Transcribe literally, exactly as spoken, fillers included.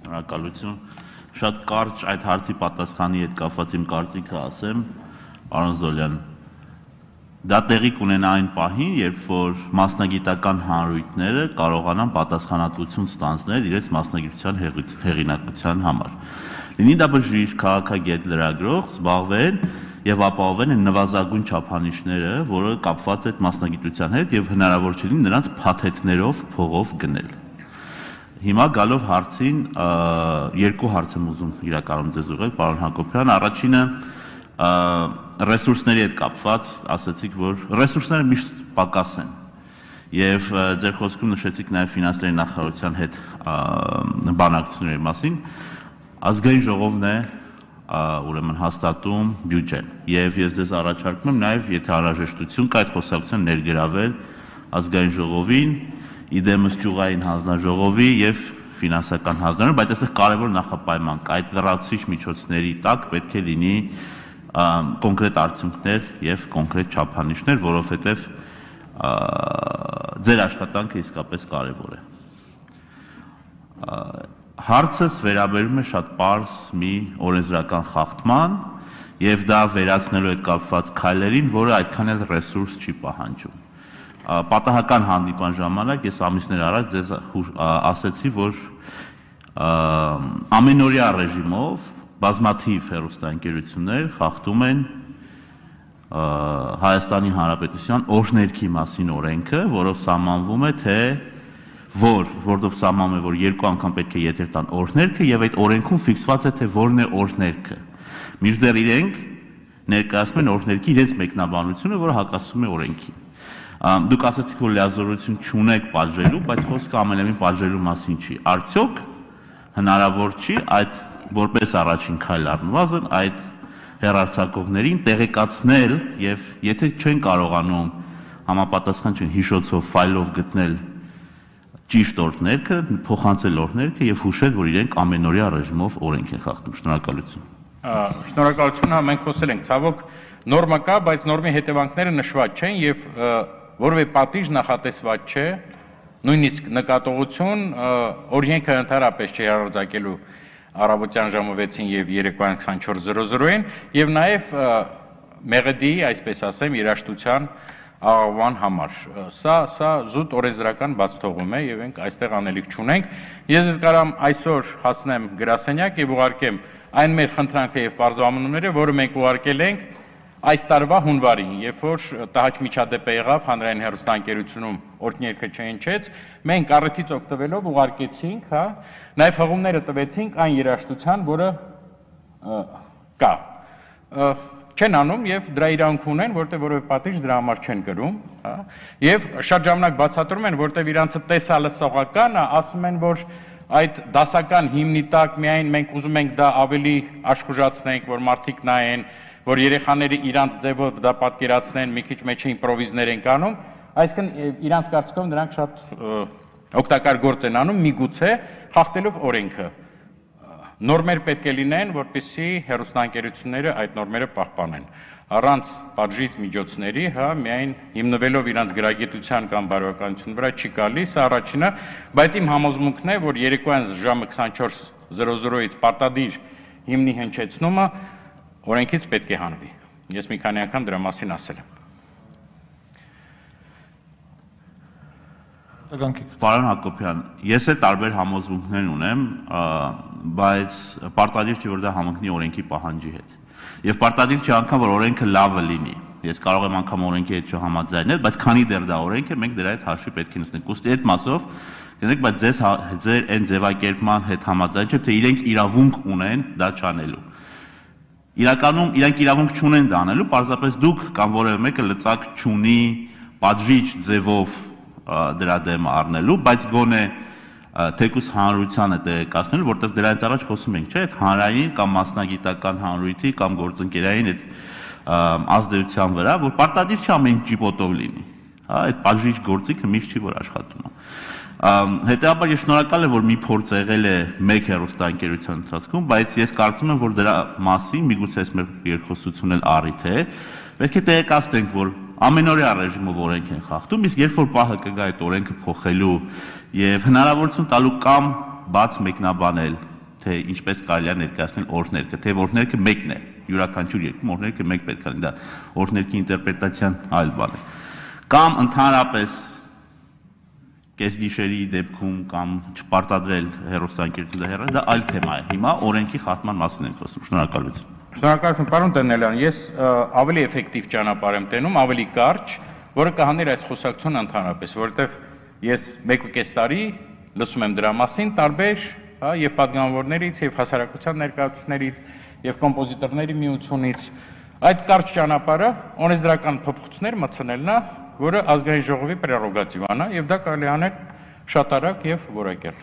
Շնորհակալություն։ Շատ կարճ այդ հարցի պատասխանի հետ կապված իմ կարծիքը ասեմ, պարոն Զոլյան, դա տեղի կունենա այն պահին, երբ որ մասնագիտական հանրույթները կարողանան պատասխանատվություն ստանձնել իրենց մասնագիտության հեղինակության համար։ Լինի դա բժիշկ, քաղաքագետ, լրագրող, զբաղվեն եւ ապահովեն այն նվազագույն չափանիշները, որը կապված է այդ մասնագիտության հետ եւ հնարավոր չի լինի նրանց փաթեթներով փողով գնել։ Հիմա գալով հարցին, երկու հարց եմ ուզում իրականում ձեզ ուղղել, պարոն Հակոբյան, առաջինը ռեսուրսների հետ կապված, ասացիք, որ ռեսուրսները միշտ պակաս են եւ ձեր խոսքում նշեցիք նաեւ ֆինանսների նախարարության հետ բանակցությունների մասին, ազգային ժողովն է ուրեմն հաստատում բյուջեն եւ ես ձեզ առաջարկում եմ նաեւ եթե անհրաժեշտություն կա այդ խոսակցության ներգրավել ազգային ժողովին, իդեմս ճյուղային հանձնաժողովի եւ ֆինանսական հանձնաժողովի, բայց այստեղ կարևոր նախապայման կա, այդ լրացուցիչ միջոցների տակ պետք է լինի կոնկրետ արդյունքներ եւ կոնկրետ չափանիշներ, որովհետեւ ձեր աշխատանքը իսկապես կարևոր է։ Հարցս վերաբերում է շատ պարզ մի օրենսդրական խախտման եւ դա վերացնելու հետ կապված քայլերին, որը այդքան էլ ռեսուրս չի պահանջում։ Պատահական հանդիպան ժամանակ ես ամիսներ առաջ ձեզ ասեցի, որ ամենօրյա ռեժիմով բազմաթիվ հեռուստաընկերություններ խախտում են Հայաստանի Հանրապետության օրհներքի մասին օրենքը, որով սահմանվում է, թե որ որտով սահմանվում է, որ երկու անգամ պետք է եթեր տան օրհներքը եւ այդ օրենքում ֆիքսված է, թե որն է օրհներքը։ Մինչդեռ իրենք ներկայացնում են օրհներքի իրենց մեկնաբանությունը, որը հակասում է օրենքին։ Դուք ասացիք, որ լիազորություն չունեք պատժելու, բայց խոսքը ամենևին պատժելու մասին չի։ Արդյոք հնարավոր չի այդ որպես առաջին քայլ առնվազն այդ հեռարձակողներին տեղեկացնել եւ եթե չեն կարողանում համապատասխան չեն հիշոցով ֆայլով գտնել ճիշտ օրհներքը, փոխանցել օրհներքը եւ հուշել, որ իրենք ամենօրյա ռեժիմով օրենք են խախտում։ Շնորհակալություն։ Շնորհակալություն, հա մենք խոսել ենք, ցավոք նորմա կա, բայց նորմի հետևանքները նշված չեն եւ որևէ պատիժ նախատեսված չէ, նույնիսկ նկատողություն օրենքը ընդհանրապես չի հրարձակելու առավոտյան ժամը վեցին եւ երեկոյան քսանչորս զրո զրոին եւ նաեւ մեղեդի, այսպես ասեմ, երաշտության աղավան համար։ Սա սա զուտ օրենսդրական բացթողում է եւ մենք այստեղ անելիք չունենք։ Ես ես կարամ այսօր հասնեմ գրասենյակ եւ ուղարկեմ այն մեր խնդրանքը եւ բարձրամանունները, որը մենք ուղարկել ենք այս տարվա հունվարին, երբ որ տհաճ միջադեպը եղավ հանրային հեռուստաընկերությունում օրհներքը չհնչեց, մենք առիթից օգտվելով ուղարկեցինք, հա, նաև հղումները տվեցինք այն երաշտության, որը կա։ Չեն անում եւ դրա իրավունք ունեն, որտեղ որևէ պատիժ դրա համար չեն կրում, հա, եւ շատ ժամանակ բացատրում են, որտեղ իրանցը տեսալը սողական է, ասում են, որ այդ դասական հիմնի տակ միայն մենք ուզում ենք դա ավելի աշխուժացնենք, որ մարդիկ նայեն, որ երեխաները իրանց ձևով դա պատկերացնեն, մի քիչ մեջը իմպրովիզներ են անում, այսինքն իրանց կարծիքով նրանք շատ օգտակար գործ են անում, միգուցե խախտելով օրենքը։ Նորմեր պետք է լինեն, որպեսզի հեռուստաընկերությունները այդ նորմերը պահպանեն։ Առանց պատժիչ միջոցների, հա, միայն հիմնվելով իրանց գրագիտության կամ բարոյականության վրա չի գալիս, սա առաջինը, բայց իմ համոզմունքն է, որ երեկոյան ժամը քսանչորս զրո զրոից պարտադիր հիմնի հնչեցնումը օրենքից պետք է հանվի։ Ես մի քանի անգամ դրա մասին ասել եմ։ Պարոն Հակոբյան, ես էլ տարբեր համոզմունքներ ունեմ, բայց պարտադիր չի, որ դա համընկնի օրենքի պահանջի հետ։ Եվ պարտադիր չի անգամ, որ օրենքը լավը լինի։ Ես կարող եմ անգամ օրենքի հետ չհամաձայնել, բայց քանի դեռ դա օրենք է, մենք դրա հետ հաշվի պետք է նստենք։ Ուստի այդ մասով գնանք, բայց ձեզ ձեր այն ձևակերպման հետ համաձայն չեմ, թե իրենք իրավունք ունեն դա չանելու։ Իրականում իրանք իրավունք չունեն դա անելու, պարզապես դուք կամ որևէ մեկը լծակ չունի պատժիչ ձևով դրա դեմ առնելու, բայց գոնե թեկուս հանրությանը տեղեկացնելու, որտեղ դրանից առաջ խոսում ենք, չէ՞, այդ հանրային կամ մասնագիտական հանրույթի կամ գործընկերային այդ ազդեցության վրա, որ պարտադիր չի ամեն ինչ ջիպոտով լինի, հա, այդ պատժիչ գործիքը միշտ չի որ աշխատում է։ Հետեւաբար ես շնորհակալ եմ, որ մի փորձ եղել է մեկ հեռուստաընկերության ընթացքում, բայց ես կարծում եմ, որ դրա մասին միգուցե այս մեր երկխոսությունն էլ առիթ է, պետք է տեղեկացնենք, որ ամենօրյա ռեժիմով օրենք են խախտում, իսկ երբ որ պահը կգա այդ օրենքը փոխելու եւ հնարավորություն տալու կամ բաց մեկնաբանել թե ինչպես կարելի է ներկայացնել օրհներգը, թե օրհներգը մեկն է, յուրաքանչյուր երկրում օրհներգը մեկ պետք է լինի, դա օրհներգի ինտերպրետացիան այլ բան է։ Կամ ընդհանրապես կեսգիշերի դեպքում կամ չպարտադրել հեռուստաընկերություն դա հեռը, դա այլ թեմա է։ Հիմա օրենքի խախտման մասին ենք խոսում։ Շնորհակալություն։ Շնորհակալություն, պարոն Տերնելյան, ես ավելի էֆեկտիվ ճանապարհ եմ տենում, ավելի կարճ, որը կհաներ այս խոսակցությունը ընդհանրապես, որովհետև ես մեկ ու կես տարի լսում եմ դրա մասին տարբեր, հա, եւ պատգամավորներից, եւ հասարակության ներկայացուցիչներից, եւ կոմպոզիտորների միությունից, այդ կարճ ճանապարհը օրենսդրական փոփոխություններ մտցնելն է, որը ազգային ժողովի պրերոգատիվան է, եւ դա կարելի անել շատ արագ եւ որակյալ։